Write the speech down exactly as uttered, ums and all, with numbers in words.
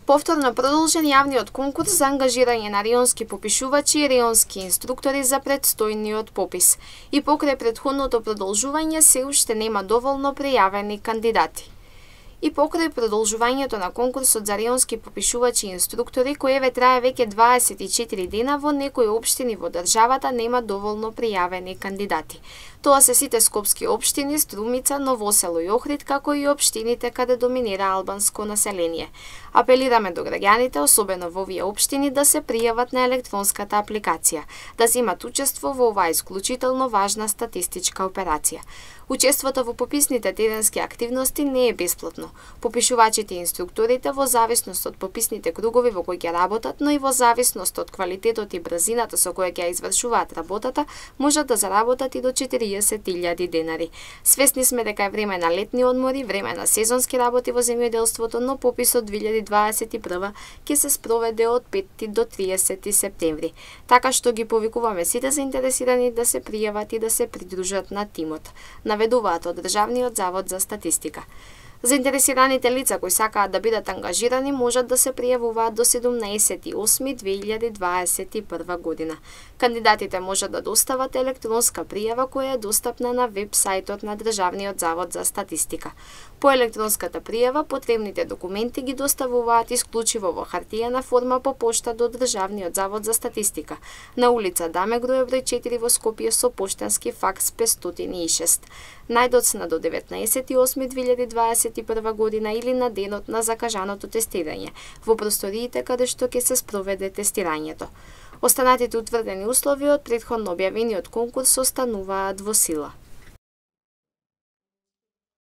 Повторно продолжен јавниот конкурс за ангажирање на реонски попишувачи и реонски инструктори за предстојниот попис. И покрај претходното продолжување се уште нема доволно пријавени кандидати. И покрај продолжувањето на конкурсот за реонски попишувачи и инструктори, кој еве трае веќе дваесет и четири дена, во некои општини во државата нема доволно пријавени кандидати. Тоа се сите скопски општини, Струмица, Новосело и Охрид, како и општините каде доминира албанско население. Апелираме до граѓаните, особено во овие општини, да се пријават на електронската апликација, да земат учество во оваа исклучително важна статистичка операција. Учеството во пописните теренски активности не е бесплатно. Попишувачите и инструкторите, во зависност од пописните кругови во кои ќе работат, но и во зависност од квалитетот и брзината со која ќе извршуваат работата, можат да заработат и до четириесет илјади денари. Свесни сме дека е време на летни одмори, време на сезонски работи во земјоделството, но пописот две илјади дваесет и прва ќе се спроведе од пети до триесети септември. Така што ги повикуваме сите заинтересирани да се пријават и да се придружат на тимот, наведуваат од Државниот завод за статистика. Заинтересираните лица кои сакаат да бидат ангажирани можат да се пријавуваат до седумнаесети осми две илјади дваесет и прва година. Кандидатите можат да достават електронска пријава која е достапна на веб сајтот на Државниот завод за статистика. По електронската пријава потребните документи ги доставуваат исклучиво во хартиена форма по пошта до Државниот завод за статистика на улица Даме Груев број четири во Скопје со поштенски факс петстотини и шест. Најдоцна до деветнаесети осми две илјади дваесет и прва година или на денот на закажаното тестирање во просториите каде што ќе се спроведе тестирањето. Останатите утврдени услови од претходно објавениот конкурс остануваат во сила.